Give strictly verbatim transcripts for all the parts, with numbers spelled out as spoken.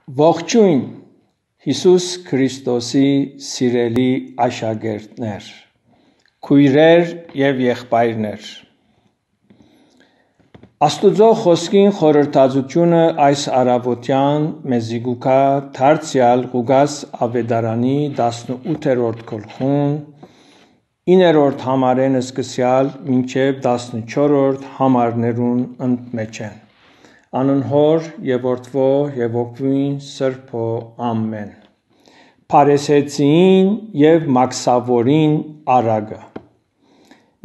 Ողջոյն, Յիսուս Քրիստոսի սիրելի աշակերտներ, քոյրեր եւ եղբայրներ։ Աստուծոյ խօսքին խորհրդածութիւնը այս առաւօտեան մեզի կու գայ դարձեալ Ղուկաս աւետարանի տասնութերորդ գլխուն, իններորդ համարէն սկսեալ մինչեւ տասնչորրորդ համարներուն ընդմէջէն։ Անուն Հօր եւ Որդւոյ եւ Հոգիին Սրբոյ։ Ամէն։ Փարիսեցիին եւ Մաքսաւորին առակը։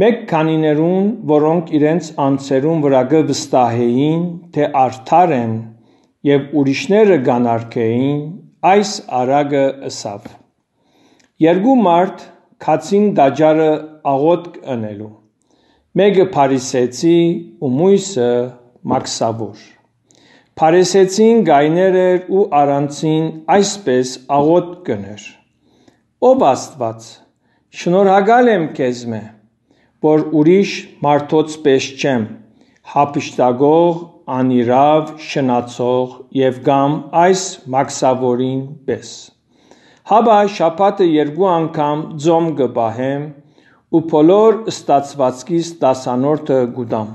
Մէկ քանիներուն, որոնք իրենց անձերուն վրայ կը վստահէին, թէ արդար են եւ ուրիշները կ'անարգէին, այս առակը ըսաւ. «Երկու մարդ գացին տաճարը աղօթք ընելու, մէկը փարիսեցի ու միւսը մաքսաւոր։ Փարիսեցին կայներ էր ու առանցին այսպէս աղօթք կ'ընէր. "Ով Աստուած, շնորհակալ եմ քեզմէ, որ ուրիշ մարդոց պէս չեմ, հափշտակող, անիրաւ, շնացող եւ կամ այս մաքսաւորին պէս։ Հապա շաբաթը երկու անգամ ծոմ կը պահեմ ու բոլոր ստացուածքիս տասանորդը կու տամ"։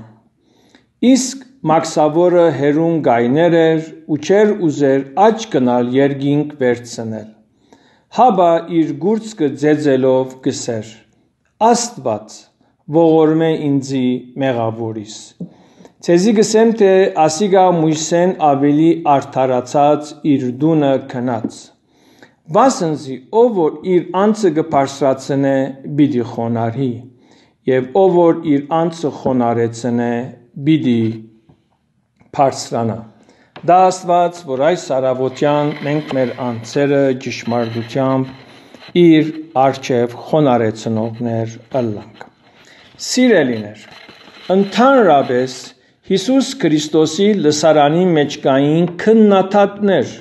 Իսկ մաքսաւորը հեռուն կայներ էր ու չէր ուզեր աջ գնալ երկինք վերցնել։ Հապա իր կուրծքը ծեծելով կ'ըսէր. "Աստուած, ողորմէ ինծի մեղաւորիս"։ Ձեզի կ'ըսեմ, թէ ասիկա միւսէն աւելի արդարացած իր տունը գնաց։ Վասն զի ով որ իր անձը կը բարձրացնէ, պիտի խոնարհի, եւ ով որ իր անձը խոնարհեցնէ, պիտի բարձրանայ։ Դա Աստուած, որ այս առաւօտեան մենք մեր անձերը ճշմարտութեամբ իր առջեւ խոնարհեցնողներ ըլլանք։ Սիրելիներ, ընդհանրապէս Յիսուս Քրիստոսի լսարանին մէջ կային քննադատներ,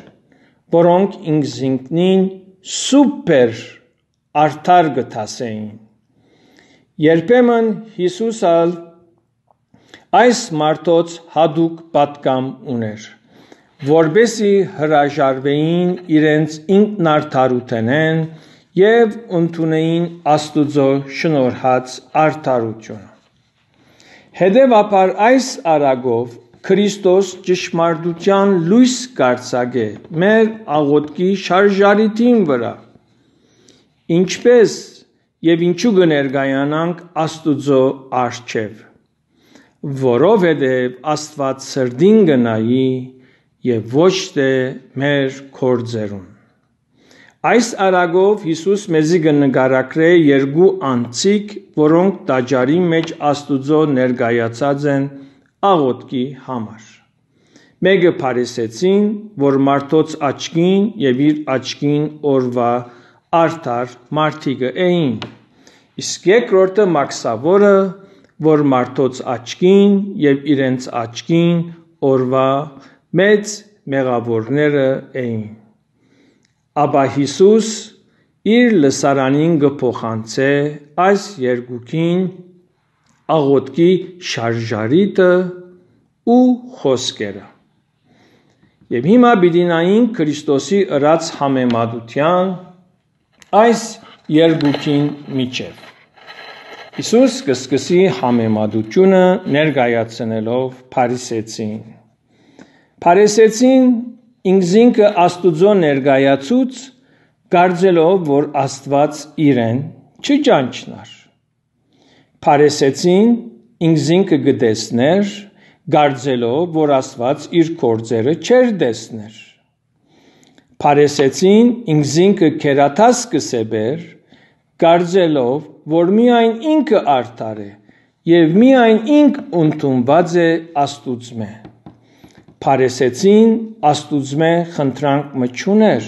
որոնք ինքզինքնին սուպեր արդար կը դասէին։ Երբեմն Յիսուս ալ այս մարդոց յատուկ պատգամ ունէր, որպեսզի հրաժարուէին իրենց ինքնարդարութենէն եւ ընդունէին Աստուծոյ շնորհած արդարութիւնը։ Հետեւաբար այս առակով Քրիստոս ճշմարտութեան լոյս կ'արձակէ մեր աղօթքի շարժառիթին վրայ, ինչպես եւ ինչու կը ներկայանանք Աստուծոյ առջեւ, որովհետեւ Աստուած սրտին կը նայի եւ ոչ թէ մեր գործերուն։ Այս առակով Յիսուս մեզի կը նկարագրէ երկու անձիկ, որոնք տաճարին մէջ Աստուծոյ ներկայացած են աղօթքի համար։ Մէկը փարիսեցին, որ մարդոց աչքին եւ իր աչքին օրուայ արդար մարդիկը էին, իսկ երկրորդը մաքսաւորը, որ մարդոց աչքին եւ իրենց աչքին օրուայ մեծ մեղաւորները էին։ Ապա Յիսուս իր լսարանին կը փոխանցէ այս երկուքին աղօթքի շարժառիթը ու խօսքերը։ Եւ հիմա պիտի նայենք Քրիստոսի ըրած համեմատութեան այս երկուքին միջեւ։ Յիսուս կը սկսի համեմատութիւնը ներկայացնելով փարիսեցին։ Փարիսեցին ինքզինքը Աստուծոյ ներկայացուց, կարծելով որ Աստուած իրեն չի ճանչնար։ Փարիսեցին ինքզինքը կը տեսներ, կարծելով որ Աստուած իր գործերը չէր տեսներ։ Փարիսեցին ինքզինքը գերադաս կը սեպեր, կարծելով որ միայն ինքը արդար է եւ միայն ինք ընդունուած է Աստուծմէ։ Փարիսեցին Աստուծմէ խնդրանք մը չունէր,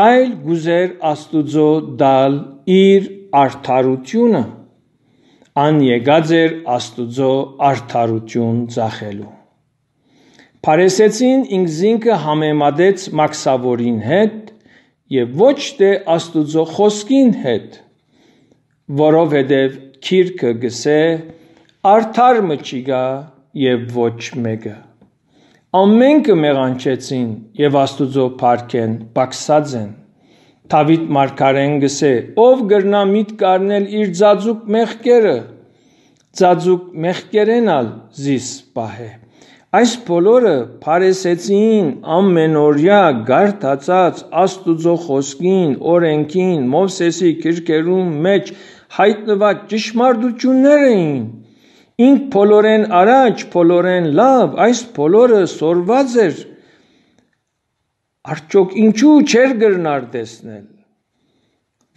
այլ կ'ուզէր Աստուծոյ տալ իր արդարութիւնը։ Ան եկած էր Աստուծոյ արդարութիւն ծախելու։ Փարիսեցին ինքզինքը համեմատեց մաքսաւորին հետ եւ ոչ թէ Աստուծոյ խօսքին հետ, որովհետեւ գիրքը կ'ըսէ. "Արդար մը չի գայ եւ ոչ մէկը"։ Ամէնքը մեղանչեցին եւ Աստուծոյ փառքէն պակսած են։ Դաւիթ մարգարէն կ'ըսէ. «Ո՞վ կրնայ միտք առնել իր ծածուկ մեղքերը, ծածուկ մեղքերէն ալ զիս պահէ»։ Այս բոլորը Փարիսեցիին ամէնօրեայ կարդացած Աստուծոյ խօսքին, օրէնքին, Մովսէսի գրքերուն մէջ յայտնուած ճշմարտութիւններ էին։ Ինք բոլորէն առաջ, բոլորէն լաւ, այս բոլորը սորված էր։ Արդյոք ինչու՞ չէր կրնար տեսնել։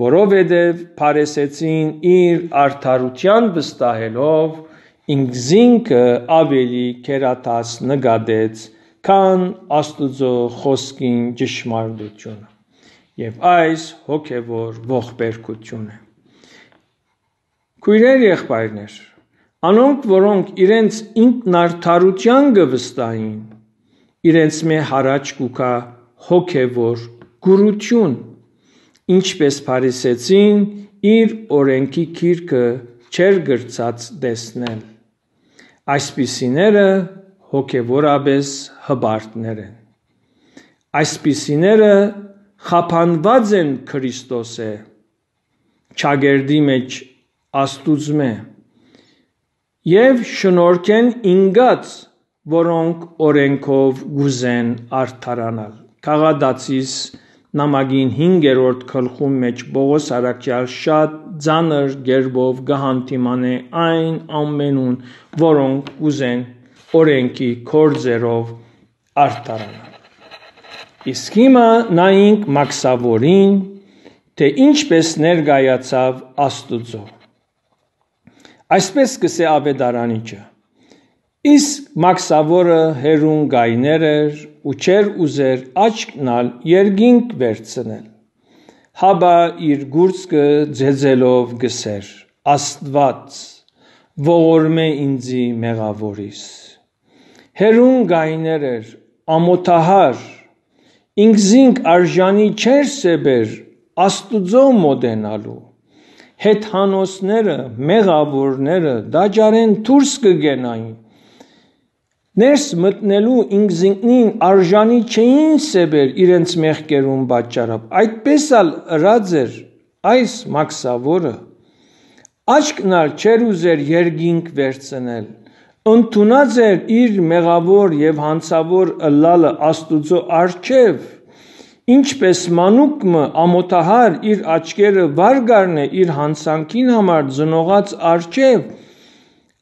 Որովհետեւ Փարիսեցին իր արդարութեան վստահելով, ինքզինքը աւելի գերադաս նկատեց, քան Աստուծոյ խօսքին ճշմարտութիւնը։ Եւ այս հոգեւոր ողբերգութիւն է։ Քոյրեր, եղբայրներ, անոնք, որոնք իրենց ինքնարդարութեան կը վստահին, իրենց մէ յառաջ կու գայ հոգեւոր կուրութիւն, ինչպէս Փարիսեցին իր օրէնքի գիրքը չէր կրցած տեսնել։ Այսպիսիները հոգեւորապէս հպարտներ են։ Այսպիսիները խափանուած են Քրիստոսէ, ճակերտի մէջ Աստուծմէ, եւ շնորհքէն ինկած, որոնք օրէնքով կ'ուզեն արդարանալ։ Քաղատացիս նամակին հինգերորդ գլխուն մէջ Պողոս առաքեալ շատ ծանր կերպով կը հանդիմանէ այն ամենուն, որոնք կ'ուզեն օրէնքի գործերով արդարանալ։ Իսկ հիմա նայինք մաքսաւորին, թէ ինչպէս ներկայացաւ Աստուծոյ։ Այսպէս կ'ըսէ աւետարանիչը. «Իսկ մաքսաւորը հեռուն կայներ էր ու չէր ուզեր աչքն ալ երկինք վերցնել, հապա իր կուրծքը ծեծելով կ'ըսէր. "Աստուած, ողորմէ ինծի մեղաւորիս"։ Հեռուն կայներ էր, ամօթահար, ինքզինք արժանի չէր սեպեր Աստուծոյ մօտենալու։ Հեթանոսները, մեղաւորները տաճարէն դուրս կը կենային։ Ներս մտնելու ինքզինքնին արժանի չէին սեպեր իրենց մեղքերուն պատճառով։ Այդպէս ալ ըրած էր այս մաքսաւորը։ Աչքն ալ չէր ուզեր երկինք վերցնել։ Ընդունած էր իր մեղաւոր եւ յանցաւոր ըլլալը Աստուծոյ առջեւ, ինչպէս մանուկ մը ամօթահար իր աչքերը վար կ'առնէ իր յանցանքին համար ծնողաց առջեւ։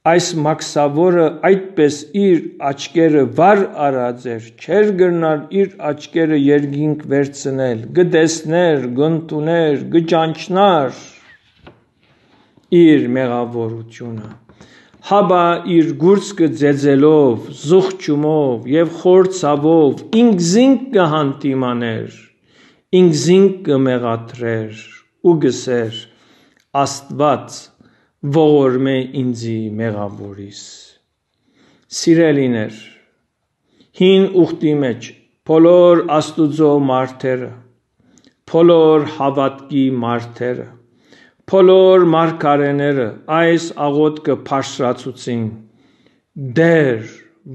Այս մաքսաւորը այդպէս իր աչքերը վար առած էր, չէր կրնար իր աչքերը երկինք վերցնել, կը տեսներ, կ'ընդունէր, կը ճանչնար իր մեղաւորութիւնը, հապա իր կուրծքը ծեծելով, զղջումով եւ խոր ցաւով ինքզինք կը հանդիմանէր, ինքզինք կը մեղադրէր ու կ'ըսէր. "Աստուած, ողորմէ ինծի մեղաւորիս"։ Սիրելիներ, հին ուխտի մէջ բոլոր Աստուծոյ մարդերը, բոլոր հաւատքի մարդերը, բոլոր մարգարէները այս աղօթքը բարձրացուցին. "Տէր,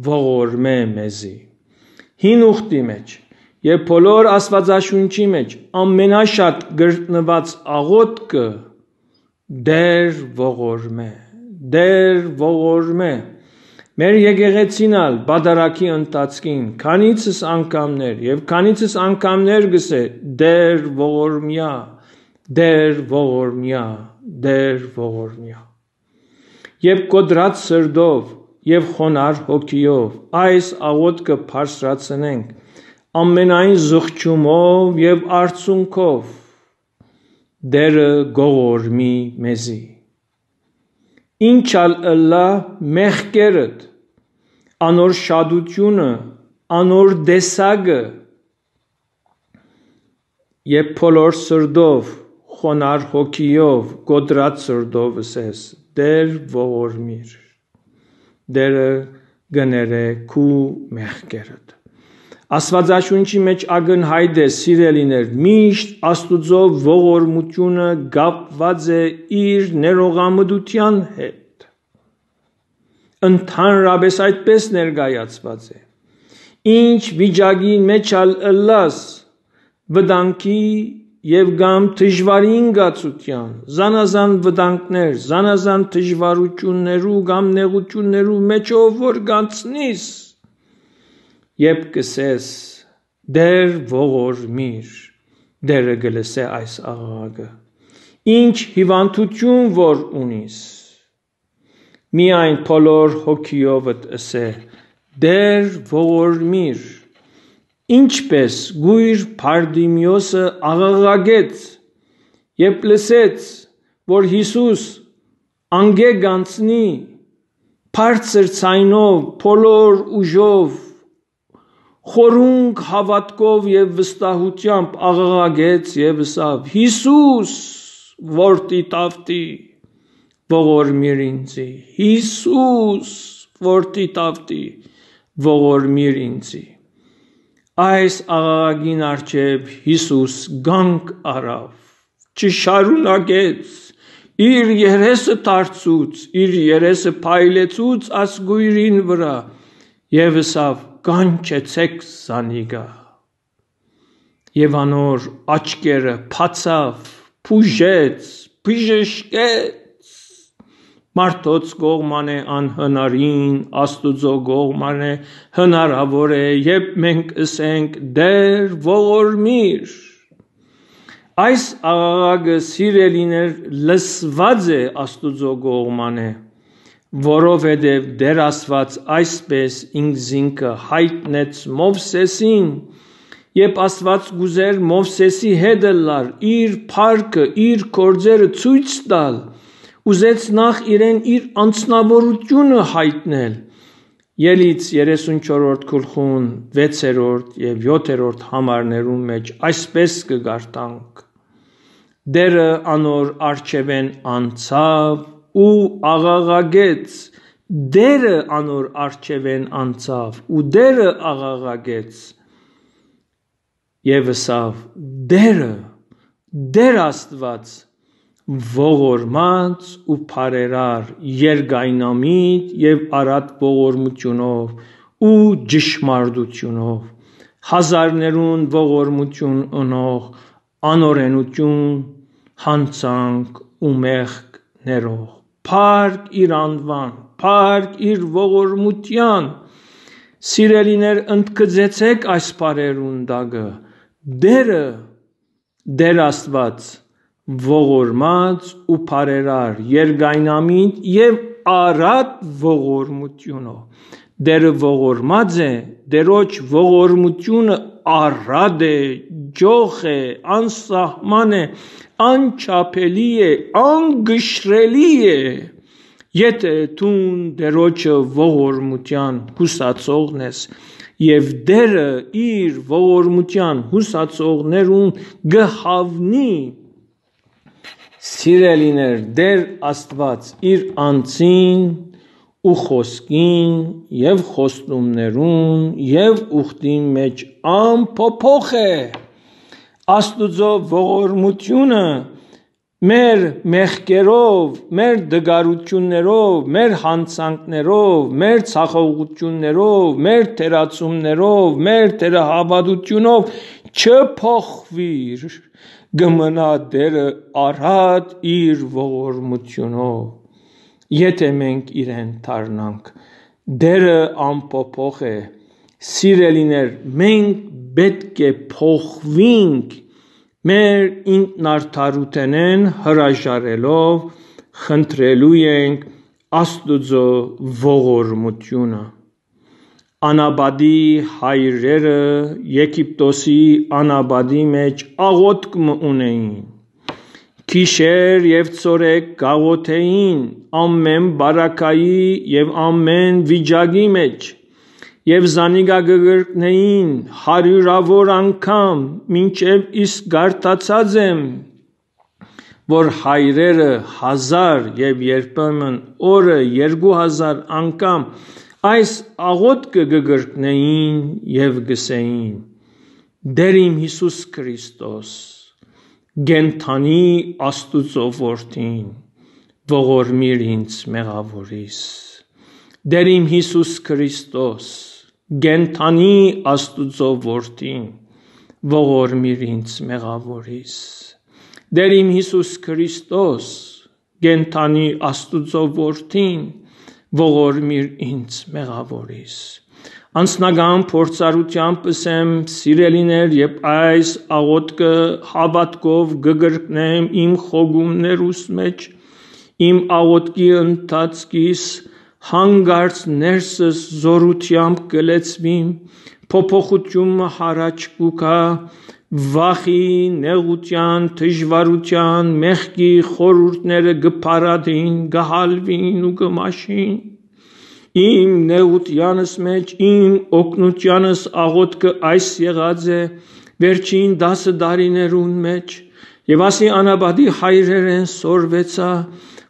ողորմէ մեզի"։ Հին ուխտի մէջ եւ բոլոր Աստուածաշունչի մէջ ամենաշատ գտնուած աղօթքը Տէր ողորմէ, Տէր ողորմէ։ Մեր եկեղեցին ալ պատարագի ընթացքին քանիցս անգամներ եւ քանիցս անգամներ կ'ըսէ. "Տէր ողորմեայ, Տէր ողորմեայ, Տէր ողորմեայ"։ Եւ կոտրած սրտով եւ խոնար հոգիով այս աղօթքը բարձրացնենք ամենայն զղջումով եւ արցունքով. "Տէրը կողորմի մեզի"։ Ինչ ալ ըլլայ մեղքերդ, անոր շատութիւնը, անոր տեսակը, եւ բոլոր սրտով, խոնար հոգիով, կոտրած սրտով ըսես. "Տէր ողորմիր"։ Տէրը կը ներէ քու մեղքերդ։ Աստուածաշունչի մէջ ակնյայտ է, սիրելիներ, միշտ Աստուծոյ ողորմութիւնը կապուած է իր ներողամտութեան հետ։ Ընդհանրապէս այդպէս ներկայացուած է։ ինչ վիճակի մէջ ալ ըլլաս, վտանգի եւ կամ դժուարի ինկացութեան, զանազան վտանգներ, զանազան դժուարութիւններու կամ նեղութիւններու մէջով որ գանցնիս, երբ կ'ըսես. «Տէր, ողորմիր», Տէրը կը լսէ այս աղաղակը։ Ինչ հիւանդութիւն որ ունիս, միայն բոլոր հոգիովդ ըսէ. «Տէր, ողորմիր»։ Ինչպէս կոյր Բարտիմէոսը աղաղակեց, երբ լսեց, որ Յիսուս անկէ կ'անցնի, բարձր ձայնով, բոլոր ուժով, խորունկ հաւատքով եւ վստահութեամբ աղաղակեց եւ ըսաւ. «Յիսուս, որդի Դաւթի, ողորմիր ինծի, Յիսուս, որդի Դաւթի, ողորմիր ինծի»։ Այս աղաղակին առջեւ Յիսուս կանգ առաւ, չշարունակեց, իր երեսը դարձուց, իր երեսը փայլեցուց այս կոյրին վրայ եւ ըսաւ. «Կանչեցէք զանիկա»։ Եւ անոր աչքերը բացաւ, բուժեց, բժշկեց։ Մարդոց կողմանը անհնարին, Աստուծոյ կողմանը հնարաւոր է, երբ մենք ըսենք. «Տէր, ողորմիր»։ Այս աղաղակը, սիրելիներ, լսուած է Աստուծոյ կողմանը, որովհետեւ Տէր Աստուած այսպէս ինքզինքը յայտնեց Մովսէսին, երբ Աստուած կ'ուզէր Մովսէսի հետ ըլլալ, իր փառքը, իր գործերը ցոյց տալ, ուզեց նախ իրեն իր անձնաւորութիւնը յայտնել։ Ելից երեսունչորրորդ գլխուն վեցերորդ եւ յոթերորդ համարներուն մէջ այսպէս կը կարդանք. «Տէրը անոր առջեւէն անցաւ ու աղաղակեց»։ Տէրը անոր առջեւէն անցաւ ու Տէրը աղաղակեց եւ ըսաւ. «Տէրը, Տէր Աստուած, ողորմած ու բարերար, երկայնամիտ եւ առատ ողորմութիւնով ու ճշմարտութիւնով, հազարներուն ողորմութիւն ընող, անօրենութիւն, յանցանք ու մեղք ներող, փառք իր անուան, փառք իր ողորմութեան»։ Սիրելիներ, ընդգծեցէք այս բառերուն տակը. «Տէրը, Տէր Աստուած, ողորմած ու բարերար, երկայնամիտ եւ առատ ողորմութիւնով»։ Տէրը ողորմած է, Տէրոջ ողորմութիւնը առատ է, ճոխ է, անսահման է, անչափելի է, անգշրելի է։ Եթէ դուն Տէրոջը ողորմութեան յուսացողն ես, եւ Տէրը իր ողորմութեան յուսացողներուն կը հաւնի, սիրելիներ, Տէր Աստուած իր անձին ու խօսքին եւ խոստումներուն եւ ուխտին մէջ անփոփոխ է։ Աստուծոյ ողորմութիւնը մեր մեղքերով, մեր դգարութիւններով, մեր յանցանքներով, մեր ցախողութիւններով, մեր թերացումներով, մեր թերահաւատութիւնով չփոխուիր, կը մնայ Տէրը առատ իր ողորմութիւնով, եթէ մենք իրեն դառնանք։ Տէրը անփոփոխ է, սիրելիներ, մենք պէտք է փոխուինք, մեր ինքնարդարութենէն հրաժարելով խնդրելու ենք Աստուծոյ ողորմութիւնը։ Անապատի հայրերը Եգիպտոսի անապատի մէջ աղօթք մը ունէին։ Գիշեր եւ ցորեկ կաղօթէին ամէն պարագայի եւ ամէն վիճակի մէջ, եւ զանիկա կը կրկնէին հարիւրաւոր անգամ, մինչեւ իսկ կարդացած եմ, որ հայրերը հազար եւ երբեմն օրը երկու հազար անգամ այս աղօթքը կը կրկնէին եւ կ'ըսէին. «Տէր իմ Յիսուս Քրիստոս, կենդանի Աստուծոյ Որդին, ողորմիր ինձ մեղաւորիս»։ Տէր իմ Յիսուս Քրիստոս, Կենդանի Աստուծոյ որդին, ողորմիր ինձ մեղաւորիս։ Տէր իմ Յիսուս Քրիստոս, կենդանի Աստուծոյ որդին, ողորմիր ինձ մեղաւորիս։ Անձնական փորձառութեամբ ըսեմ, սիրելիներ, երբ այս աղօթքը հաւատքով կը կրկնեմ իմ խոկումներուս մէջ, իմ աղօթքի ընթացքիս հանկարծ ներսս զօրութեամբ կը լեցուիմ, փոփոխութիւն մը յառաջ կու գայ, վախի, նեղութեան, դժուարութեան, մեղքի խորհուրդները կը փարատին, կը հալուին ու կը մաշին։ Իմ նեղութեանս մէջ, իմ օգնութեանս աղօթքը այս եղած է վերջին տասը տարիներուն մէջ, եւ ասի անապատի հայրերէն սորվեցայ,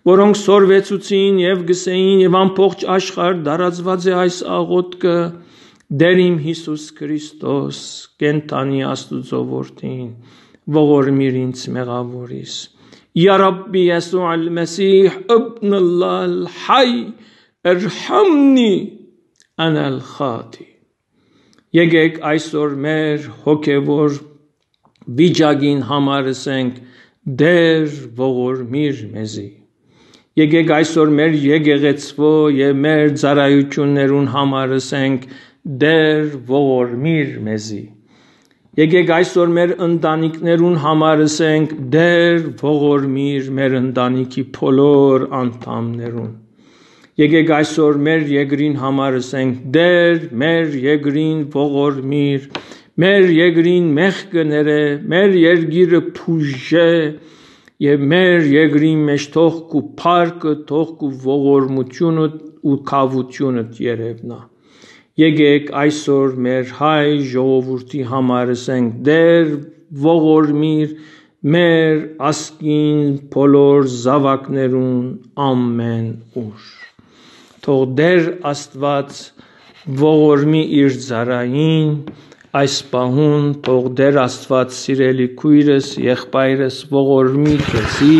որոնք սորվեցուցին եւ գսեին, եւ ամբողջ աշխարհ տարածուած է այս աղօթքը. «Տէր իմ Յիսուս Քրիստոս, կենդանի Աստուծոյ որդին, ողորմիր ինձ մեղաւորիս։ Յա Ռաբբի Յեսու Ալ-Մեսիհ, Իբն Ալլահ Ալ-Հայ, ارحمني أنا الخاطي»։ Եկեք այսօր մեր հոգեվոր վիճակին համար ըսենք. «Տէր, ողորմիր մեզի»։ Եկեք այսօր մեր եկեղեցւոյ եւ մեր ծառայութիւններուն համար ըսենք. «Տէր, ողորմիր մեզի»։ Եկեք այսօր մեր ընտանիքներուն համար ըսենք. «Տէր, ողորմիր մեր ընտանիքի բոլոր անդամներուն»։ Եկեք այսօր մեր երկրին համար ըսենք. «Տէր, մեր երկրին ողորմիր, մեր երկրին մեղքը ներէ, մեր երկիրը բուժէ եւ մեր երկրին մէջ թող քու փառքը, թող քու ողորմութիւնդ ու գաւութիւնդ երեւնայ»։ Եկեք այսօր մեր հայ ժողովուրդի համար ըսենք. «Տէր, ողորմիր մեր ազգին բոլոր զաւակներուն ամէն ուր»։ Թող Տէր Աստուած ողորմի իր ծառային այս պահուն, թող Տէր Աստուած, սիրելի քոյրս, եղբայրս, ողորմի քեզի,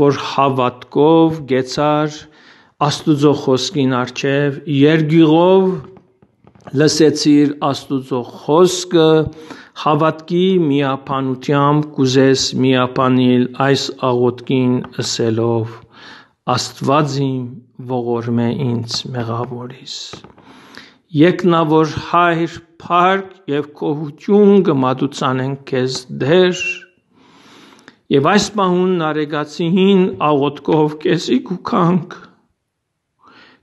որ հաւատքով կեցար Աստուծոյ խօսքին առջեւ, երկիղով լսեցիր Աստուծոյ խօսքը, հաւատքի միաբանութեամբ կ'ուզես միաբանել այս աղօթքին ըսելով. «Աստուած իմ, ողորմէ ինձ մեղաւորիս»։ Եկնաւոր Հայր, փառք եւ գոհութիւն կը մատուցանենք քեզ, Տէր, եւ այս պահուն նարեկացիին աղօթքով քեզի կու գանք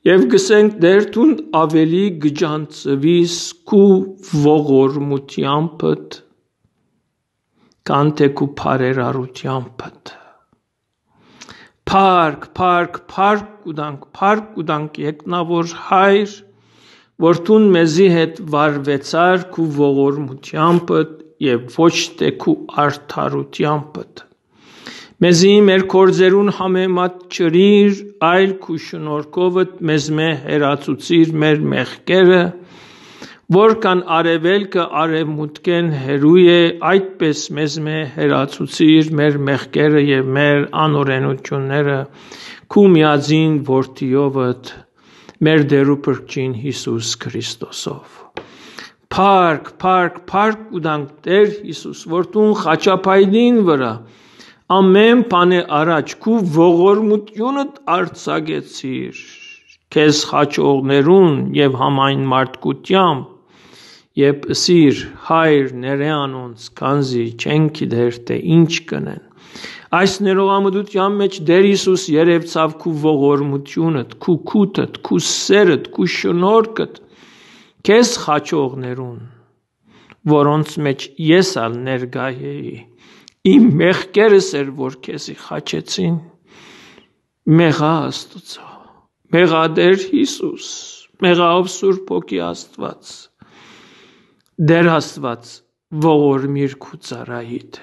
եւ կ'ըսենք. «Տէր, դուն աւելի կը ճանչցուիս քու ողորմութեամբդ, քան թէ քու բարերարութեամբդ»։ Փառք, փառք, փառք կու տանք, փառք կու տանք, եկնաւոր Հայր, որ դուն մեզի հետ վարուեցար քու ողորմութեամբդ եւ ոչ թէ քու արդարութեամբդ։ Մեզի մեր գործերուն համեմատ չըրիր, այլ քու շնորհքովդ մեզմէ հեռացուցիր մեր մեղքերը, որքան արեւելքը արեւմուտքէն հեռու է, այդպես մեզմէ հեռացուցիր մեր մեղքերը եւ մեր անօրէնութիւնները քու միածին որդիովդ, մեր Տէր ու Փրկչին Յիսուս Քրիստոսով։ Փառք, փառք, փառք կու տանք, Տէր Յիսուս, որ դուն խաչափայտին վրայ ամէն բանէ առաջ քու ողորմութիւնդ արձակեցիր քեզ խաչողներուն եւ համայն մարդկութեամբ, երբ ըսիր. «Հայր, ներէ անոնց, քանզի չեն գիտեր թէ ինչ կ'ընեն»։ Այս ներողամտութեան մէջ Տէր Յիսուս երեւցաւ քու ողորմութիւնդ, քու քութդ, քու սերդ, քու շնորհքդ քեզ խաչողներուն, որոնց մէջ ես ալ ներկայ էի։ Իմ մեղքերս էր, որ քեզի խաչեցին։ Մեղա Աստուծոյ, մեղա Տէր Յիսուս, մեղա ով Սուրբ Հոգի Աստուած։ Տէր Աստուած, ողորմիր քու ծառայիդ։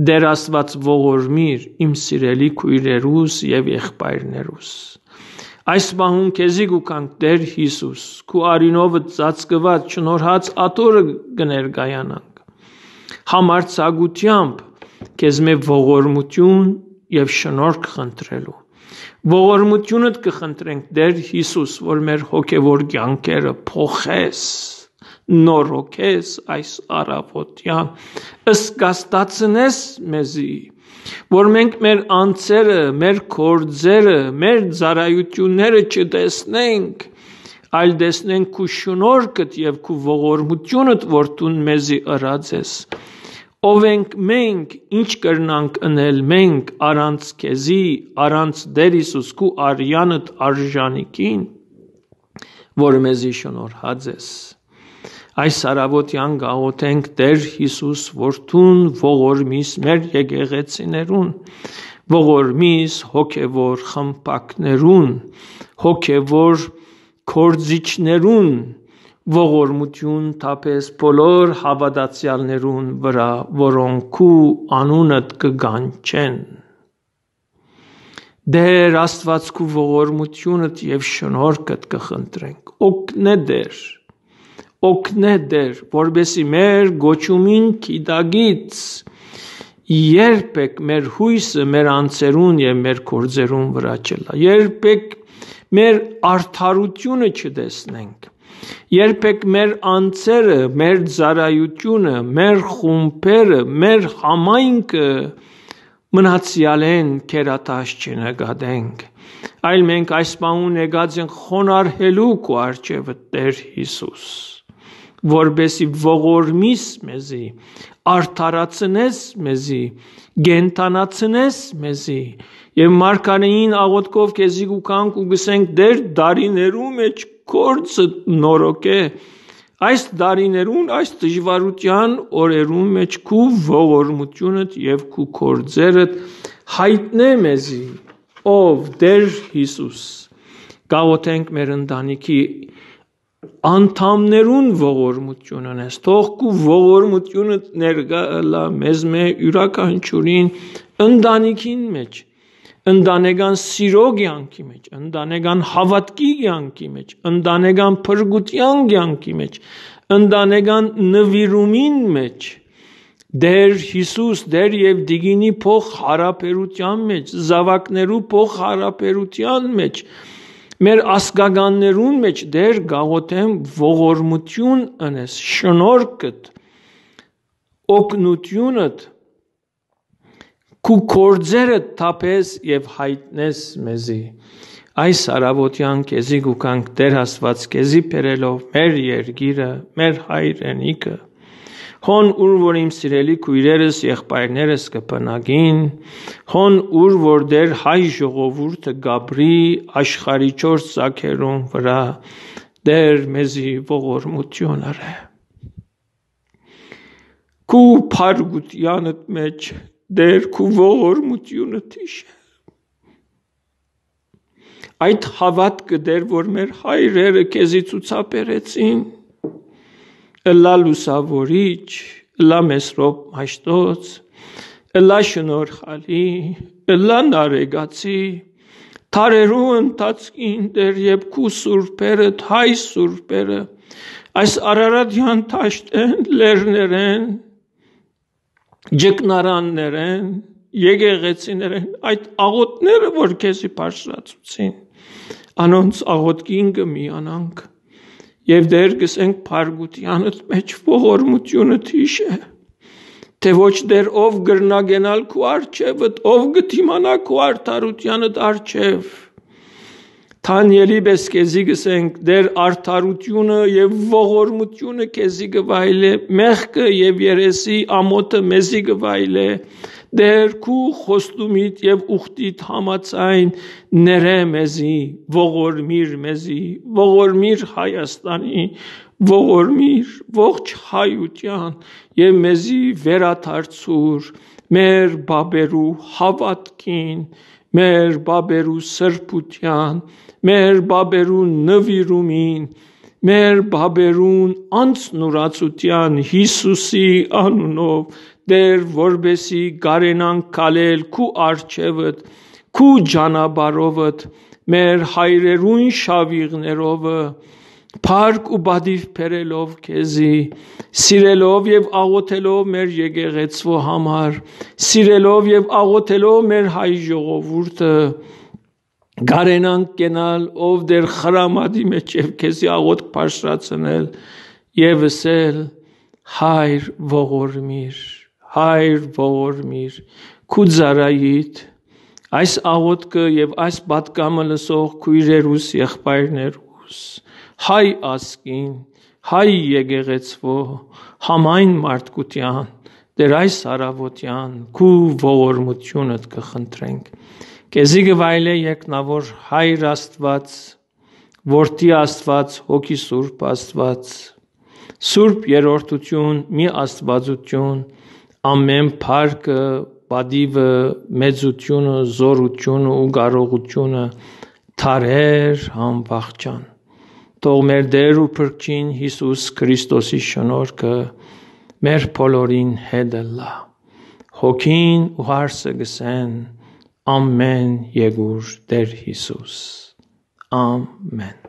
Տէր Աստուած, ողորմիր իմ սիրելի քոյրերուս եւ եղբայրներուս։ Այս պահուն քեզի կու գանք, Տէր Յիսուս, քու արիւնովդ ծածկուած, շնորհած աթոռը կը ներկայանանք, համարձակութեամբ քեզմէ ողորմութիւն եւ շնորհք խնդրելու, Ողորմութիւնդ կը խնդրենք, Տէր Յիսուս, որ մեր հոգեվոր կեանքերը փոխես, նորոգես այս առաւօտեան, զգաստացնես մեզի, որ մենք մեր անձերը, մեր գործերը, մեր ծառայութիւնները չտեսնենք, այլ տեսնենք քու շնորհքդ եւ քու ողորմութիւնդ, որ դուն մեզի ըրած ես։ Ով ենք մենք, ինչ կրնանք ընել մենք առանց քեզի, առանց Տէր Յիսուս քու արեանդ արժանիքին, որ մեզի շնորհած ես։ Այս առաւօտեան կաղոթենք, Տէր Յիսուս, որ դուն ողորմիս մեր եկեղեցիներուն, ողորմիս հոգեվոր խմբակներուն, հոգեվոր գործիչներուն, ողորմութիւն թափես բոլոր հաւատացեալներուն վրայ, որոնք քու անունդ կը կանչեն։ Տէր Աստուած, քու ողորմութիւնդ եւ շնորհքդ կը խնդրենք։ Օգնէ, Տէր, օգնէ, Տէր, որպեսզի մեր կոչումին գիտակից երբեք մեր յոյսը մեր անձերուն եւ մեր գործերուն վրայ չըլլայ, երբեք մեր արդարութիւնը չտեսնենք, երբեք մեր անձերը, մեր ծառայութիւնը, մեր խումբերը, մեր համայնքը մնացեալէն գերատաշ չնկատենք, այլ մենք այս պահուն եկած ենք խոնարհելու քու առջեւը, Տէր Յիսուս, որպեսզի ողորմիս մեզի, արդարացնես մեզի, կենդանացնես մեզի։ Եւ մարգարէին աղօթքով քեզի կու գանք ու կ'ըսենք, Տէր, տարիներու մէջ գործը նորոգէ, այս տարիներուն, այս դժուարութեան օրերուն մէջ քու ողորմութիւնդ եւ քու գործերդ յայտնէ մեզի, ով Տէր Յիսուս։ Կաղոթենք մեր ընտանիքի անդամներուն ողորմութիւնն ես, թող քու ողորմութիւնդ ներկայ ըլլայ մեզմէ յուրաքանչիւրին ընտանիքին մէջ, ընտանեկան սիրո կեանքի մէջ, ընտանեկան հաւատքի կեանքի մէջ, ընտանեկան փրկութեան կեանքի մէջ, ընտանեկան նուիրումին մէջ, Տէր Յիսուս, Տէր եւ Տիկինի փոխ յարաբերութեան մէջ, զաւակներու փոխ յարաբերութեան մէջ, մեր ազգականներուն մէջ, Տէր, կաղոթեմ, ողորմութիւն ընես, շնորհքդ, օգնութիւնդ, քու գործերդ թափես եւ յայտնես մեզի։ Այս առաւօտեան քեզի կու գանք, Տէր Աստուած, քեզի բերելով մեր երկիրը, մեր հայրենիքը, հոն ուր որ իմ սիրելի քոյրերս, եղբայրներս կը բնակին, հոն ուր որ Տէր հայ ժողովուրդը կ'ապրի աշխարհի չորս ծագերուն վրայ, Տէր մեզի ողորմութիւն ըրէ։ Քու փառքութեանդ մէջ, Տէր, քու ողորմութիւնդ յիշէ։ Այդ հաւատքը, Տէր, որ մեր հայրերը քեզի ցուցաբերեցին, ըլլայ լուսաւորիչ, ըլլայ Մեսրոպ Մաշտոց, ըլլայ շնորհալի, ըլլայ նարեկացի, դարերու ընթացքին, Տէր, երբ քու սուրբերդ, հայ սուրբերը, այս Արարատեան դաշտէն, լեռներէն, ջկնարաններէն, եկեղեցիներէն, այդ աղօթները, որ քեզի բարձրացուցին, անոնց աղօթքին կը միանանք։ Եւ Տէր, կ'ըսենք, փառքութեանդ մէջ ողորմութիւնդ յիշէ, թէ ոչ, Տէր, ով կրնայ գնալ քու առջեւդ, ով կը դիմանայ քու արդարութեանդ առջեւ։ Դանիէլի պէս քեզի կ'ըսենք, Տէր, արդարութիւնը եւ ողորմութիւնը քեզի կը վայելէ, մեղքը եւ երեսի ամօթը մեզի կը վայելէ։ Տէր, քու խոստումիդ եւ ուխտիդ համաձայն ներէ մեզի, ողորմիր մեզի, ողորմիր Հայաստանի, ողորմիր ողջ հայութեան եւ մեզի վերադարձուր մեր բաբերու հաւատքին, մեր բաբերու սրբութեան, մեր բաբերու նուիրումին, մեր բաբերուն անձնուրացութեան Յիսուսի անունով, Տէր, որպեսզի կարենանք քալել քու առջեւդ, քու ճանապարհովդ, մեր հայրերուն շավիղներովը, փառք ու պատիւ բերելով քեզի, սիրելով եւ աղօթելով մեր եկեղեցու համար, սիրելով եւ աղօթելով մեր հայ ժողովուրդը, կարենանք կենալ ով Տէր խրամատի մէջ եւ քեզի աղօթք բարձրացնել եւ ըսել. «Հայր, ողորմիր, Հայր, ողորմիր քու ծառայիդ, այս աղօթքը եւ այս պատգամը լսող քոյրերուս, եղբայրներուս, հայ ազգին, հայ եկեղեցւոյ, համայն մարդկութեան, Տէր այս առաւօտեան քու ողորմութիւնդ կը խնդրենք։ Քեզի կը վայելէ երկնաւոր Հայր Աստուած, Որդի Աստուած, Հոգի Սուրբ Աստուած, Սուրբ Երրորդութիւն, մի Աստուածութիւն, ամէն փառքը, պատիւը, մեծութիւնը, զօրութիւնը ու կարողութիւնը դարեր անվախճան։ Թող մեր Տէր ու Փրկչին Յիսուս Քրիստոսի շնորհքը մեր բոլորին հետ ըլլայ։ Հոգին ու հարսը կ'ըսեն. «Ամէն եկուր Տէր Յիսուս»։ Ամէն։